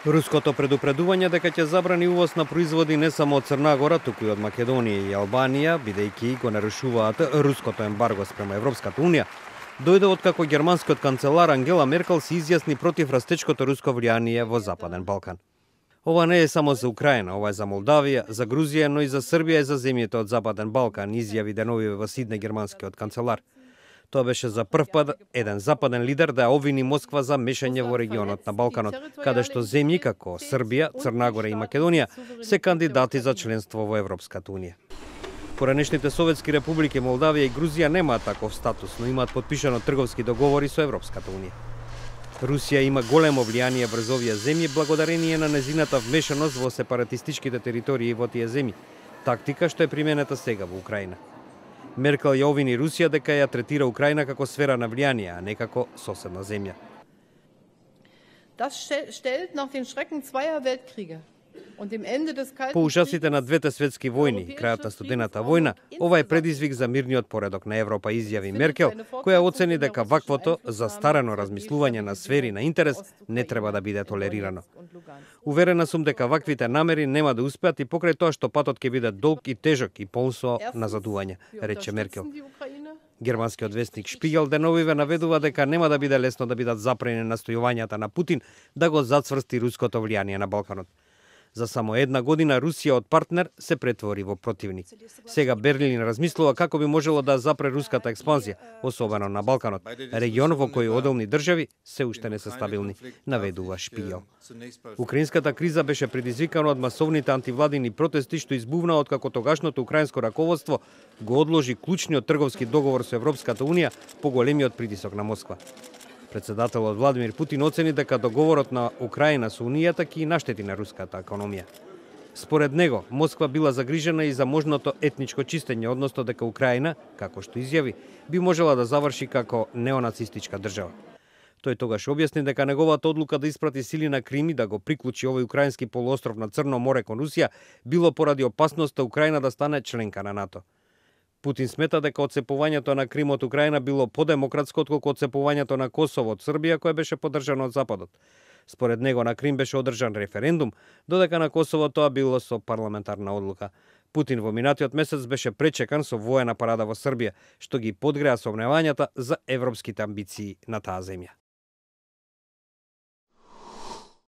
Руското предупредување дека ќе забрани увоз на производи не само од Црна Гора, туку и од Македонија и Албанија, бидејќи го нарушуваат руското ембарго спрема Европската унија, дојде откако германскиот канцелар Ангела Меркел се изјасни против растечкото руско влијание во Западен Балкан. Ова не е само за Украина, ова е за Молдавија, за Грузија, но и за Србија и за земјите од Западен Балкан, изјави деновиве во Сидне германскиот канцелар. Тоа беше за прв пат еден западен лидер да ја обвини Москва за мешање во регионот на Балканот, каде што земји како Србија, Црна Гора и Македонија се кандидати за членство во Европската унија. Поранешните советски републики Молдавија и Грузија немаат таков статус, но имаат потпишано трговски договори со Европската унија. Русија има големо влијание врз овие земји благодарение на незината вмешаност во сепаратистичките територии во тие земји, тактика што е применета сега во Украина. Меркел ја обвини Русија дека ја третира Украина како сфера на влијание, а не како соседна земја. По ужасите на двете светски војни и крајот на студената војна, ова е предизвик за мирниот поредок на Европа, изјави Меркел, која оцени дека ваквото застарено размислување на сфери на интерес не треба да биде толерирано. Уверена сум дека ваквите намери нема да успеат и покрај тоа што патот ќе биде долг и тежок и полн со назадување, рече Меркел. Германскиот вестник Шпигел деновиве наведува дека нема да биде лесно да бидат запрени настојувањата на Путин да го зацврсти руското влијание на Балканот. За само една година Русија од партнер се претвори во противник. Сега Берлин размислува како би можело да запре руската експанзија, особено на Балканот, регион во кој одделни држави се уште не се стабилни, наведува Шпигел. Украинската криза беше предизвикана од масовните антивладини протести што избувна откако тогашното украинско раководство го одложи клучниот трговски договор со Европската унија по големиот притисок на Москва. Председателот Владимир Путин оцени дека договорот на Украина со Унијата ќе наштети на руската економија. Според него, Москва била загрижена и за можното етничко чистење, односно дека Украина, како што изјави, би можела да заврши како неонацистичка држава. Тој тогаш објасни дека неговата одлука да испрати сили на Крим и да го приклучи овој украински полуостров на Црно море кон Русија било поради опасноста Украина да стане членка на НАТО. Путин смета дека отцепувањето на Крим од Украина било подемократско отколку отцепувањето на Косово од Србија, кое беше поддржано од Западот. Според него на Крим беше одржан референдум, додека на Косово тоа било со парламентарна одлука. Путин во минатиот месец беше пречекан со воена парада во Србија, што ги подгреа сомневањата за европските амбиции на таа земја.